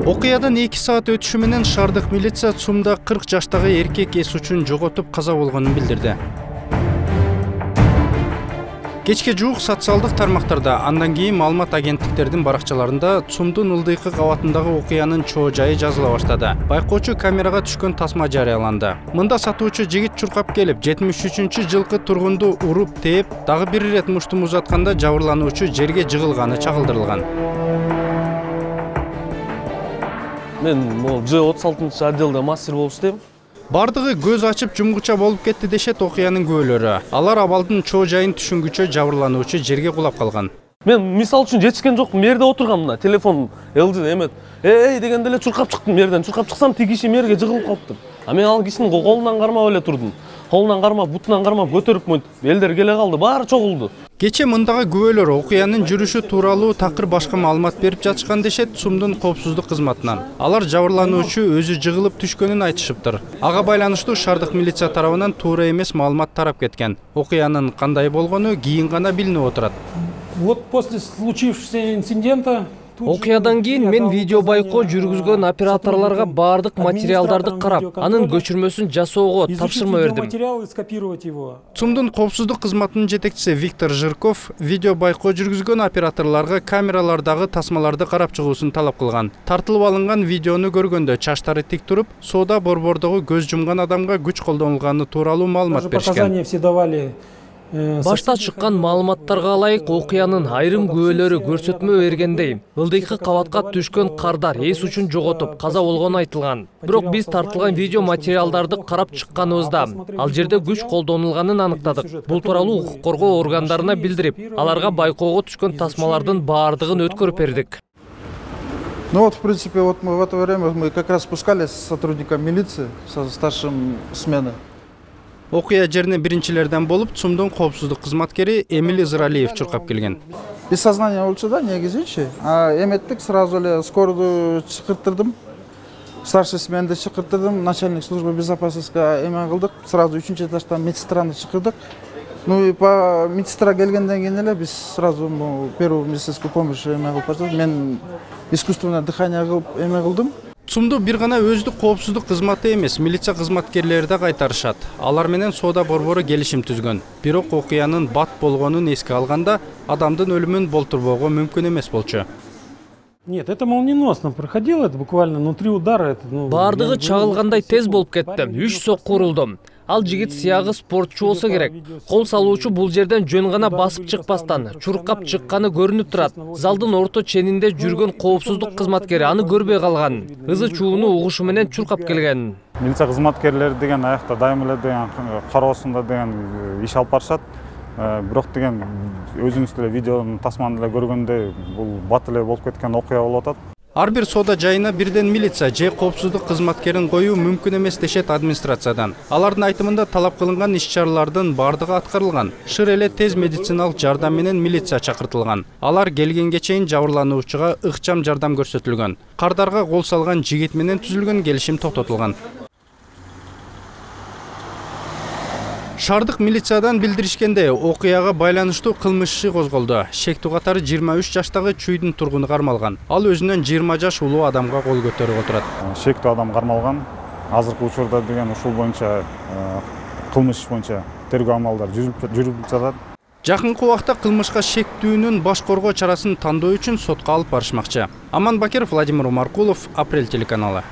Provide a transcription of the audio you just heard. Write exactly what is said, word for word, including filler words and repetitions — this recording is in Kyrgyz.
Окуядан эки саат өтүшү менен шаардык милиция ЦУМда кырк жаштагы эркек эс учун жоготуп каза болгонун билдирди. Кечке жуук социалдык тармактарда, андан кийин маалымат агенттиктердин баракчаларында ЦУМдун ылдыйкы кабатындагы окуянын чоо жайы жазыла баштады. Байкоочу камерага түшкөн тасма жарыяланды. Мында сатуучу жигит чуркап келип, жетимиш үчүнчү жылкы тургунду уруп тээп, дагы бир ирет муштум узатканда жабырлануучу жерге жыгылганы чагылдырылган. Мен могу Ж отуз алтынчы отделде мастер болуп иштейм. Бардыгы көз ачып жумгуча болуп кетти дешет окуянын күбөлөрү. Алар абалдын чоо жайын түшүнгүчө жабырлануучу жерге кулап калган. Мен мисал үчүн жетишкен жокмун, мерде отургам мына, телефон эл жи эмет. Эй дегенде эле чуркап чыктым мерден. Чуркап чыксам тиги киши мерге жыгылып калыптыр. А мен ал кишинин колунан кармап эле турдум. Колунан кармап, бутунан кармап көтөрүп мынтип, элдер келе калды, баары чогулду. Кече мындагы күбөлөр окуянын жүрүшү тууралуу такыр башка маалымат берип жатышкан дешет ЦУМдун коопсуздук кызматынан. Алар жабырлануучу өзү жыгылып түшкөнүн айтышыптыр. Ага байланыштуу шаардык милиция тарабынан туура эмес маалымат тарап кеткен. Окуянын кандай болгону кийин гана билинип отурат. Вот после случившегося инцидента Окуядан кийин мен видео байкоо жүргүзгөн операторлорго баардык материалдарды карап, анын көчүрмөсүн жасоого тапшырма бердим. ЦУМдун коопсуздук кызматынын жетекчиси Виктор Жирков видео байкоо жүргүзгөн операторлорго камералардагы тасмаларды карап чыгуусун талап кылган. Тартылып алынган видеону көргөндө чачтары тик туруп, соода борбордогу көз жумган адамга күч колдонулганы тууралуу маалымат беришкен. Башта чыккан маалыматтарга ылайык окуянын айрым күбөлөрү көрсөтмө бергендей, ылдыйкы кабатка түшкөн кардар эс учун жоготуп каза болгону айтылган. Бирок биз тартылган видео материалдарды карап чыкканыбызда, ал жерде күч колдонулганын аныктадык. Бул тууралуу укук коргоо органдарына билдирип, аларга байкоого түшкөн тасмалардын баардыгын өткөрүп бердик. Ну вот, в принципе, вот мы в это время мы как раз спускались с сотрудником милиции, со старшим смены. Окуя жерине биринчилерден болуп ЦУМдун коопсуздук кызматкери Эмиль Израилев чуркап келген. Без сознания болчу да, негизичи. А эметтик сразу эле скорую чакыртырдым. Старший сменди чакыртырдым, начальник службы безопасности эме кылдык. Сразу үчүнчү этаждан медсестраны чакырдык. Ну и по медсестра келгенден кийин эле биз сразу первую медицинскую помощь эме кылып баштадык. Мен искусственное дыхание кылып эме кылдым. ЦУМду бир гана өздүк коопсуздук кызматы эмес, милиция кызматкерлери да кайтарышат. Алар менен соода борбору келишим түзгөн. Бирок окуянын бат болгонун эске алганда, адамдын өлүмүн болтурбоого мүмкүн эмес болчу. Нет, это молниеносно проходило, это буквально внутри удара. Это, ну, баардыгы чагылгандай тез болуп кетти. Үч сокку урулду. Ал жигит сыягы спортчу болсо керек. Кол салуучу бул жерден жөн гана басып чыкпастан чуркап чыкканы көрүнүп турат. Залдын орто ченинде жүргөн коопсуздук кызматкери аны көрбөй калган. Ызы чууну угушу менен чуркап келген. Милиция кызматкерлери деген аякта дайым эле деген кароосунда деген иш алып барышат. Бирок деген өзүңүз деле видеонун тасманы эле көргөндө бул бат эле болуп кеткен окуя болуп атат. Ар бир соода жайына бирден милиция же коопсуздук кызматкерин коюу мүмкүн эмес дешет администрациядан. Алардын айтымында талап кылынган иш-чаралардын баардыгы аткарылган. Шыр эле тез медициналык жардам менен милиция чакыртылган. Алар келгенге чейин жабырлануучуга ыкчам жардам көрсөтүлгөн. Кардарга кол салган жигит менен түзүлгөн келишим токтотулган. Шаардык милициядан билдиришкенде, окуяга байланыштуу кылмыш иши козголду. Шектүү катары жыйырма үч жаштагы чүйдүн тургуну кармалган. Ал өзүнөн жыйырма жаш улуу адамга кол көтөрүп отурат. Шектүү адам кармалган. Азыркы учурда деген ушул боюнча кылмыш иш боюнча тергөө амалдары жүрүп жатат. Жакынкы убакта кылмышка шектүүнүн баш коргоо чарасын тандоо үчүн сотко алып барышмакчы. Аман Бакиров, Владимир Умаркулов, Апрель телеканалы.